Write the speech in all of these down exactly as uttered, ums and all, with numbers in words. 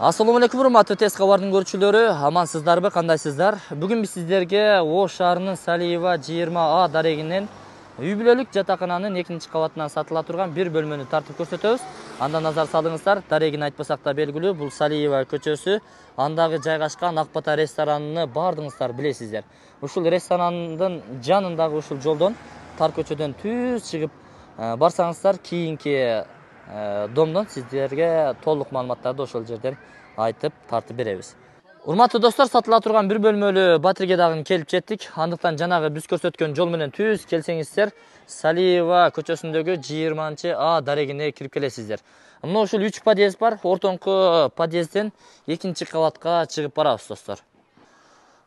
Assalomu alaykum, hurmatli tez xabarning ko'ruvchilari, amansizlarmi, qandaysizlar? Bugun biz sizlarga Osh shahrining Saliyeva yigirma A dareginden uy бүлөлүк жатакананын экинчи кабатынан сатыла турган бир бөлмөнү тартып көрсөтөбүз. Анда назар салыңыздар, дарегин айтпасак да белгилүү, бул Салиева көчөсү, андагы жайгашкан Ак Бата ресторанын баардыгыңыздар билесиздер. Ушул ресторанындын жанындагы ушул жолдон, тар көчөдөн түз чыгып барсаңыздар, кийинки домдон сиздерге толук маалыматтарды ошол жерден айтып тартып беребиз. Урматтуу достор, сатыла турган бир бөлмөлүү батирге дагы келип жеттик. Андыктан жанагы биз көрсөткөн жол менен түз келсеңиздер, Салиева көчөсүндөгү жыйырманчы А дарегине кирип келесиздер. Мына ушул үч подъезд бар. Ортоңку подъездден экинчи кабатка чыгып барабыз, достор.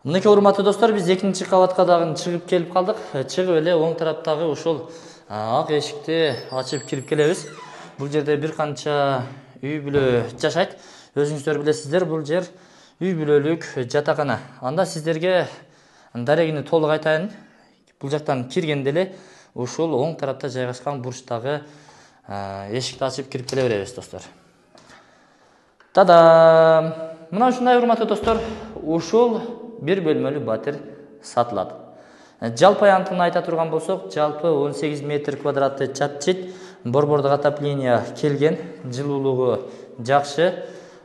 Мынакей урматтуу достор, биз экинчи кабатка дагы чыгып келип калдык. Чыгып эле оң тараптагы ушул ак эшикти ачып кирип келебиз. Бул жерде бир канча үй бүлө жашайт. Өзүңүздөр билесиздер, бул жер үй бүлөлүк жатакана. Анда сиздерге дарегини толук айтайын. Бул жактан киргенде эле ушул оң тарапта жайгашкан бурчтагы эшикти ачып кирип келе беребиз, достор. Тада! Мына ушундай урматтуу достор, ушул бир бөлмөлүү батир сатылат. Жалпы аянтын айта турган болсок, жалпы он сегиз метр квадраты чат-чит, борбордук отопление келген, жылуулугу жакшы.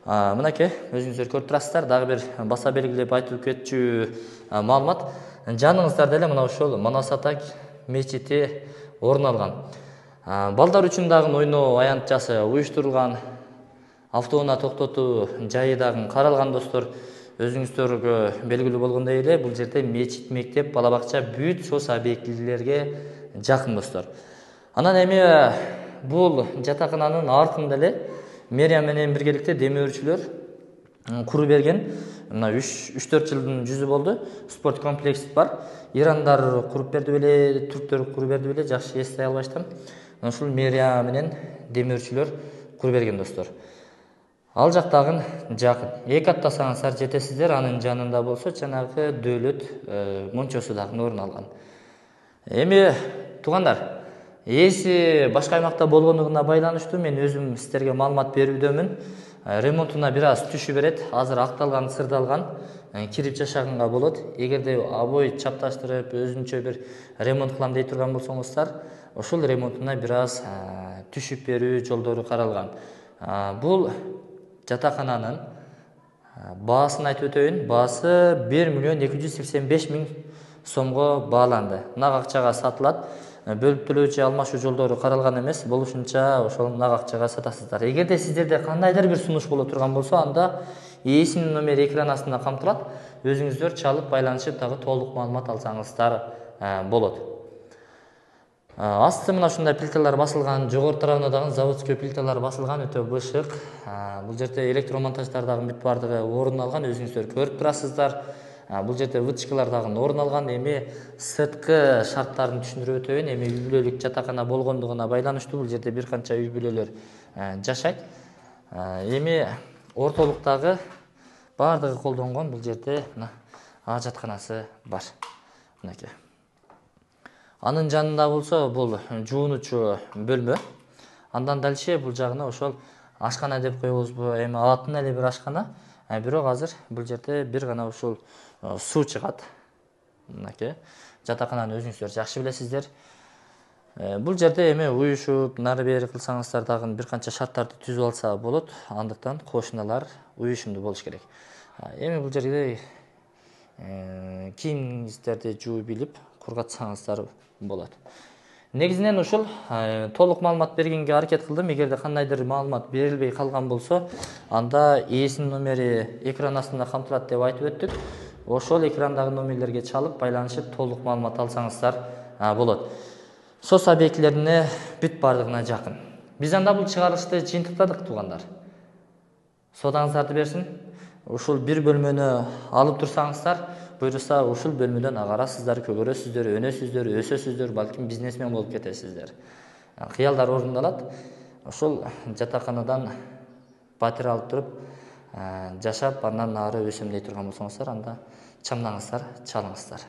Мынакей өзүңүздөр көрүп турасыздар, дагы бир баса белгилеп айтып кетчү маалымат. Жаныңыздарда эле мына ушул Манасата мечити орун алган. Балдар үчүн дагы ойноо аянтчасы уюштурулган, автоунаа токтотуу жайы дагы каралган, достор. Өзүңүздөргө белгилүү болгондой эле, бул жерде мечит, мектеп, бала бакча бүт сос объектилерге жакын, достор. Анан эми бул жатакананын артында эле мэрия менен биргеликте демөөрчүлөр куруп берген. Мына үч төрт жылдын жүзү болду. Спорт комплекс бар. Ирандар куруп берди беле, түрктөр куруп берди беле, жакшы эстей албаштым. Ушул мэрия менен демөөрчүлөр куруп берген, достор. Ал жактагы жакын. Эки аттасаңыздар жетесиздер, анын жанында болсо жанагы дөөлөт мончосу дагы орун алган. Эми туугандар, эси башка аймакта болгондугуна байланыштуу мен өзүм сиздерге маалымат берүүдөмүн. Ремонтуна бир аз түшү берет. Азыр акталган, сырдалган, кирип жашаганга болот. Эгерде обой чапташтырып, өзүнчө бир ремонт кылам дей турган болсоңуздар, ошол ремонтуна бир аз түшүп берүү жолдору каралган. Бул жатакананын баасын айтып өтөйүн. Баасы бир миллион эки жүз сексен беш миң сомго бааланды. Нак акчага сатылат. Бөлүп төлөөчү алмашуу жолдору каралган эмес, болушунча ошол нак акчага сатасыздар. Эгерде сиздерде кандайдыр бир сунуш боло турган болсо, анда ээсинин номери экран астында камтылат. Өзүңүздөр чалып байланышып дагы толук маалымат алсаңыздар болот. Асты мына ушундай плиталар басылган, жогору тарабына дагы заводской плиталар басылган, өтө бышык. Бул жерде электромонтаждар дагы бүт бардыгы орун алган, өзүңүздөр көрүп турасыздар. Бул жерде вытчкалар дагы орун алган. Эми сырткы шарттарын түшүндүрүп өтөйүн. Эми үй бүлөлүк жатакана болгондугуна байланыштуу бул жерде бир канча үй бүлөлөр жашайт. Эми ортолуктагы бардыгы колдонгон бул жерде мына ажатканасы бар. Мынакей. Анын жанында болсо бул жуунучу бөлмө. Андан дальше бул жагына ошол ашкана деп коебузбу, эми атын эле бир ашкана. Бирок азыр бул жерде бир гана ушул суу чыгат. Мынакей. Жатакананы өзүңүздөр жакшы билесиздер. Бул жерде эми уюшуп, нары бери кылсаңыздар дагы бир канча шарттарды түзүп алса болот. Андыктан кошуналар уюшумдуу болуш керек. Эми бул жерде кийимиңиздерди жууп илип кургатсаңыздар болот. Негизинен ушул толук маалымат бергенге аракет кылдым. Эгерде кандайдыр маалымат берилбей калган болсо, анда ээсинин номери экран астында камтылат деп айтып өттүк. Ошол экрандагы номерлерге чалып байланышып толук маалымат алсаңыздар болот. Сос объектилерине бүт бардыгына жакын. Биз анда бул чыгарылышты жыйынтыктадык, туугандар. Содаңыздарды берсин. Ушул бир бөлмөнү алып турсаңыздар, буюрса ушул бөлмөдөн агарасыздар, көгөрөсүздөр, өнөсүздөр, өсөсүздөр, балким бизнесмен болуп кетесиздер. Кыялдар орундалат. Ошол жатаканадан батир алып туруп, жашап, андан ары өсөм дей турган болсоңуздар, анда чамдаңыздар, чалыңыздар.